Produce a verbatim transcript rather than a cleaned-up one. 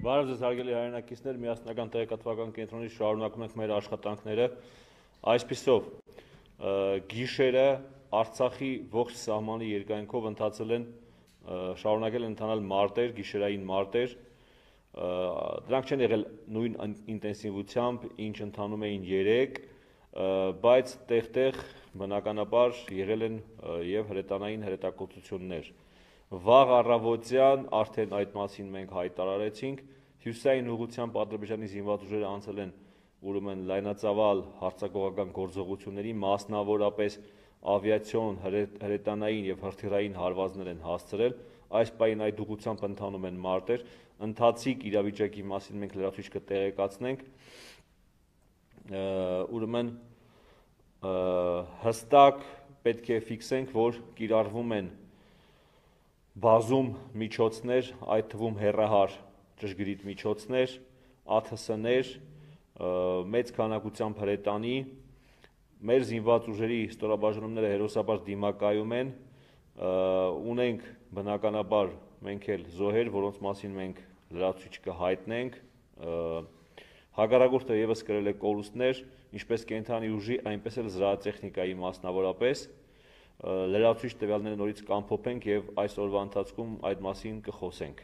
Բարև ձեզ հարգելի հայրենակիցներ, միասնական տեղեկատվական կենտրոնից շարունակում ենք մեր աշխատանքները։ Այսպիսով, գիշերը Արցախի ողջ սահմանի երկայնքով ընթացել են, շարունակել են ընթանալ մարտեր, գիշերային մարտեր։ Դրանք չեն եղել նույն ինտենսիվությամբ, ինչ ընթանում էին երեկ, բայց տեղ-տեղ բնականաբար եղել են եւ հրետանային հրետակոծություններ։ Վաղ առավոտյան արդեն այդ մասին մենք հայտարարեցինք, հյուսիսային ուղղությամբ Ադրբեջանի զինված ուժերը անցել են ուրեմն լայնածավալ հարձակողական գործողությունների, մասնավորապես ավիացիոն, հրետանային եւ հրթիռային հարվածներ են հասցրել, այս պահին այդ ուղղությամբ ընթանում են մարտեր, ընթացիկ իրավիճակի մասին մենք լրացուցիչ կտեղեկացնենք, ուրեմն հստակ պետք է ֆիքսենք, որ կիրառվում են բազում միջոցներ, այդ թվում հեռահար ճշգրիտ միջոցներ, ԱԹՍ-ներ, մեծ քանակությամբ հրետանի, մեր զինված ուժերի ստորաբաժանումները հերոսաբար դիմակայում են, ունենք բնականաբար մենք էլ զոհեր, որոնց մասին մենք լրացուցիչ կհայտնենք, հակառակորդը ևս կրել է կորուստներ, ինչպես կենդանի ուժի, այնպես էլ զրահատեխնիկայի մասնավորապես, լրացուցիչ տվյալները նորից կամփոփենք եւ այս օրվա ընթացքում այդ մասին կխոսենք։